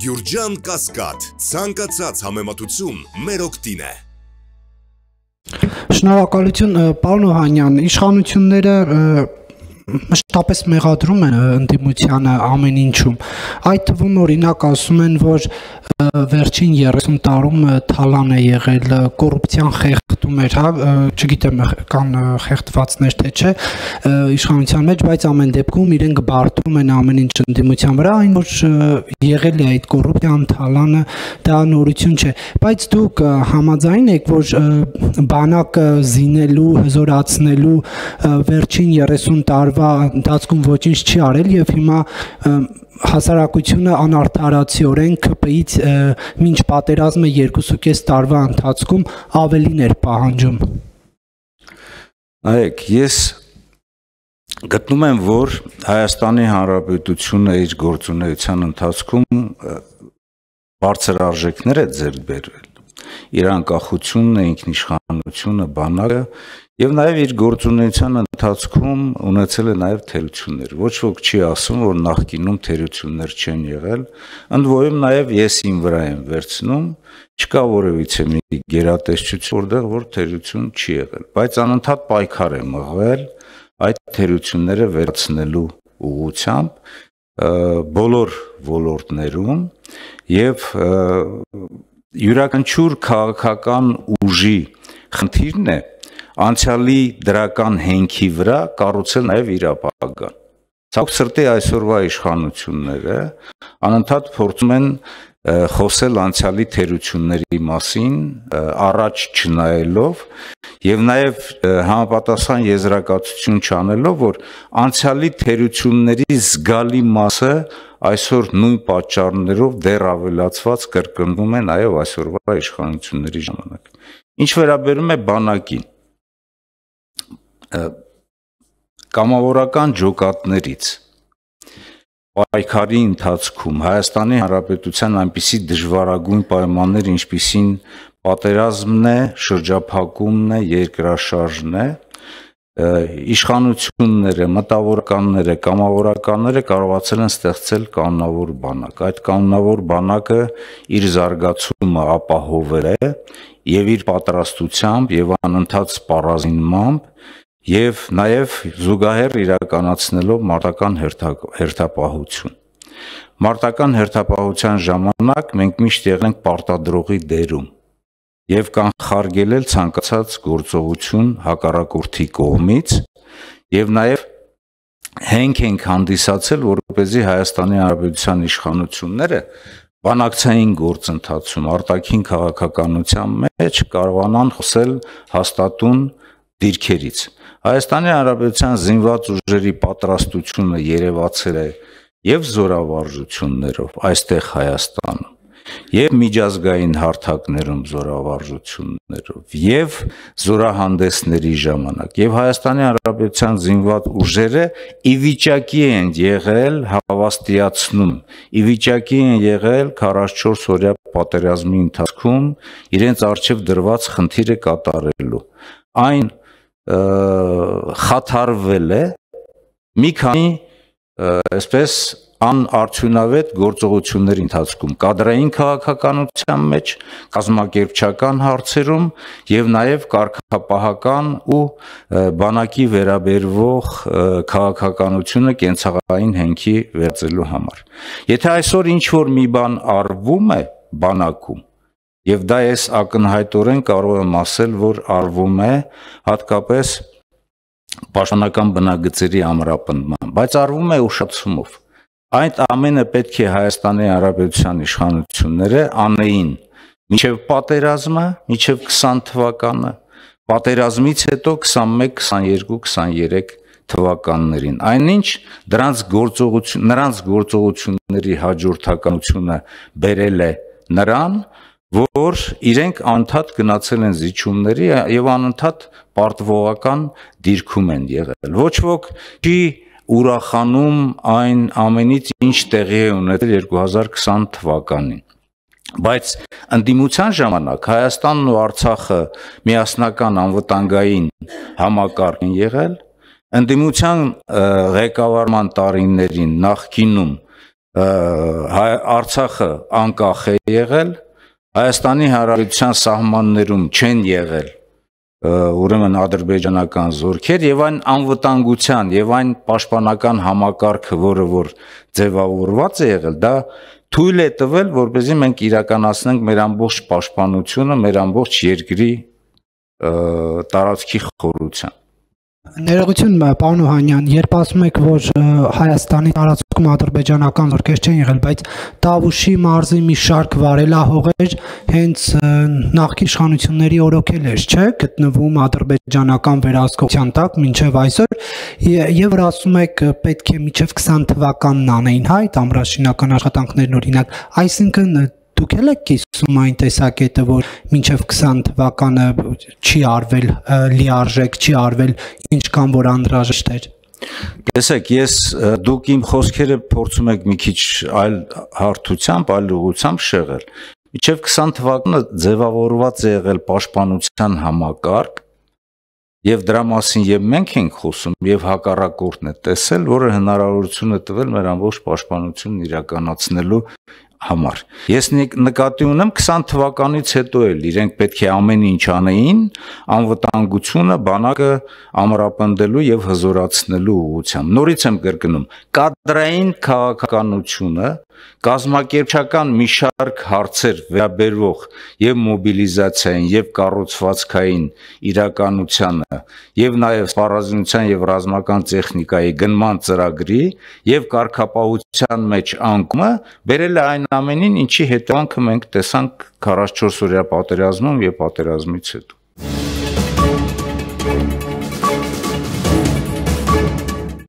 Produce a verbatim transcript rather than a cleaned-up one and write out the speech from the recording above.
Գյուրջան Կասկադ, ցանկացած համեմատություն մեր օգտին է։ Շնորհակալություն, պարոն Օհանյան, իշխանությունները մշտապես մեղադրում են ընդդիմությանը ամեն ինչում։ Այդ թվում օրինակ ասում են, որ վերջին երեսուն տարում թալան է եղել, կոռուպցիան խեղդում էր, հա, չգիտեմ կան խեղդվածներ թե չէ իշխանության մեջ, բայց ամեն դեպքում իրենք բարդում են ամեն ինչ ընդդիմության վրա, այն որ եղել է այդ կոռուպցիան, թալանը, դա նորություն չէ, բայց դուք համաձայն եք, որ բանակը զինելու, հզորացնելու վերջին երեսուն տարվա ընթացքում ոչինչ չի արել եւ հիմա հասարակությունը անարդարացիորեն ՔՊ-ից մինչ պատերազմը երկուսուկես տարվա ընթացքում ավելին էր պահանջում։ Այեք, ես գտնում եմ, որ Հայաստանի Հանրապետությունը իր գործունեության ընթացքում բարձր արժեքներ է ձեռք բերել։ Իր անկախությունը, ինքնիշխանությունը, բանակը եւ նաեւ իր գործունեության ընթացքում ունեցել է նաեւ թերություններ։ Ոչ ոք չի ասում, որ նախկինում թերություններ չեն եղել, ընդ որում նաեւ ես իմ վրա եմ վերցնում, չկա որևիցե մի գերատեսչություն, որտեղ որ թերություն չի եղել, բայց անընդհատ պայքար է մղվել այդ թերությունները վերացնելու ուղղությամբ բոլոր ոլորտներում եւ յուրաքանչյուր քաղաքական ուժի խնդիրն է անցյալի դրական հենքի վրա կառուցել նաև իր ապագան։ Ցավոք սրտի այսօրվա իշխանությունները անընդհատ փորձում են խոսել անցյալի թերությունների մասին, առաջ չնայելով եւ նաեւ համապատասխան եզրակացություն չանելով, որ անցյալի թերությունների զգալի մասը այսօր նույն պատճառներով դեռ ավելացված կրկնվում է նաեւ այսօրվա իշխանությունների ժամանակ։ Ինչ վերաբերում է բանակին, կամավորական ջոկատներից պայքարի ընթացքում Հայաստանի Հանրապետության այնպիսի դժվարագույն պայմաններ, ինչպիսին պատերազմն է, շրջափակումն է, երկրաշարժն է, իշխանությունները, մտավորականները, կամավորականները կարողացել են ստեղծել կանոնավոր բանակ։ Այդ կանոնավոր բանակը իր զարգացումը ապահովել է եւ իր պատրաստությամբ եւ անընդհատ սպառազինմամբ եւ նաեւ զուգահեռ իրականացնելով մարտական հերթապահություն։ Մարտական հերթապահության ժամանակ մենք միշտ եղել ենք պարտադրողի դերում եւ կանխարգելել ցանկացած գործողություն հակառակորդի կողմից եւ նաեւ հենք ենք հանդիսացել, որպեսզի Հայաստանի Հանրապետության իշխանությունները բանակցային գործընթացում արտաքին քաղաքականության մեջ կարողանան խոսել հաստատուն դիրքերից։ Հայաստանի Հանրապետության զինված ուժերի պատրաստությունը երևացել է եւ զորավարժություններով այստեղ Հայաստանում, եւ միջազգային հարթակներում զորավարժություններով, եւ զորահանդեսների ժամանակ, եւ Հայաստանի Հանրապետության զինված ուժերը ի վիճակի են եղել հավաստիացնում, ի վիճակի են եղել քառասունչորս օրյա պատերազմի ընթացքում իրենց առջև դրված խնդիրը կատարելու։ Այն խաթարվել է մի քանի այսպես անարդյունավետ գործողությունների ընթացքում, կադրային քաղաքականության մեջ, կազմակերպչական հարցերում եւ նաեւ կարգապահական ու բանակի վերաբերվող քաղաքականությունը կենցաղային հենքի վերածելու համար։ Եթե այսօր ինչ որ մի բան արվում է բանակում, եւ դա ես ակնհայտորեն կարող եմ ասել, որ արվում է հատկապես պաշտպանական բնագծերի ամրապնդման, բայց արվում է ուշացումով։ Այդ ամենը պետք է Հայաստանի Հանրապետության իշխանությունները անեին մինչև պատերազմը, մինչև քսան թվականը, պատերազմից հետո քսանմեկ, քսաներկու, քսաներեք թվականներին։ Այնինչ դրանց գործողություն, նրանց գործողությունների հաջորդականությունը բերել է նրան, որ իրենք անընդհատ գնացել են զիջումների եւ անընդհատ պարտվողական դիրքում են եղել։ Ոչ ոք չի ուրախանում այն ամենից, ինչ տեղի է ունեցել երկու հազար քսան թվականին։ Բայց ընդդիմության ժամանակ Հայաստանն ու Արցախը միասնական անվտանգային համակարգ են եղել, ընդդիմության ղեկավարման տարիներին նախկինում Արցախը անկախ է եղել, Հայաստանի Հանրապետության սահմաններում չեն եղել ուրեմն ադրբեջանական զորքեր եւ այն անվտանգության եւ այն պաշտպանական համակարգը, որը որ ձևավորված է եղել, դա թույլ է տվել, որպեսզի մենք իրականացնենք մեր ամբողջ պաշտպանությունը, մեր ամբողջ երկրի տարածքի խորությամբ։ Ներողություն, պարոն Օհանյան, երբ ասում եք, որ Հայաստանի տարածքում ադրբեջանական զորքեր չեն եղել, բայց Տավուշի մարզի մի շարք վարելահողեր հենց նախկին իշխանությունների օրոքել էր, չէ՞, գտնվում ադրբեջանական վերահսկողության տակ մինչև այսօր, եւ որ ասում եք պետք է մինչև քսան թվականն անեին, հա, այդ ամրաշինական աշխատանքներն օրինակ, այսինքն դուք եք կիսում այն տեսակետը, որ մինչև քսան թվականը չի արվել լիարժեք, չի արվել ինչքան որ անհրաժեշտ էր։ Տեսեք, ես դուք իմ խոսքերը փորձում եք մի քիչ այլ հարթությամբ, այլ ուղղությամբ շեղել։ Մինչև քսան թվականը ձևավորված է եղել պաշտպանության համակարգ, եւ դրա մասին եւ մենք ենք խոսում, եւ հակառակորդն է տեսել, որը հնարավորություն է տվել մեր ամբողջ պաշտպանությունն իրականացնելու համար։ Ես նկատի ունեմ քսան թվականից հետո էլ իրենք պետք է ամեն ինչ անեին անվտանգությունը բանակը ամրապնդելու եւ հզորացնելու ուղղությամբ։ Նորից եմ կրկնում, կադրային քաղաքականությունը, կազմակերպչական մի շարք հարցեր վերաբերող եւ մոբիլիզացիային եւ կառուցվածքային իրականությանը եւ նաեւ սպառազինության եւ ռազմական տեխնիկայի գնման ծրագրի եւ կարգապահության մեջ անկումը բերել է այն ամենին, ինչի հետևանքը մենք տեսանք քառասունչորս օրյա պատերազմում եւ պատերազմից հետո։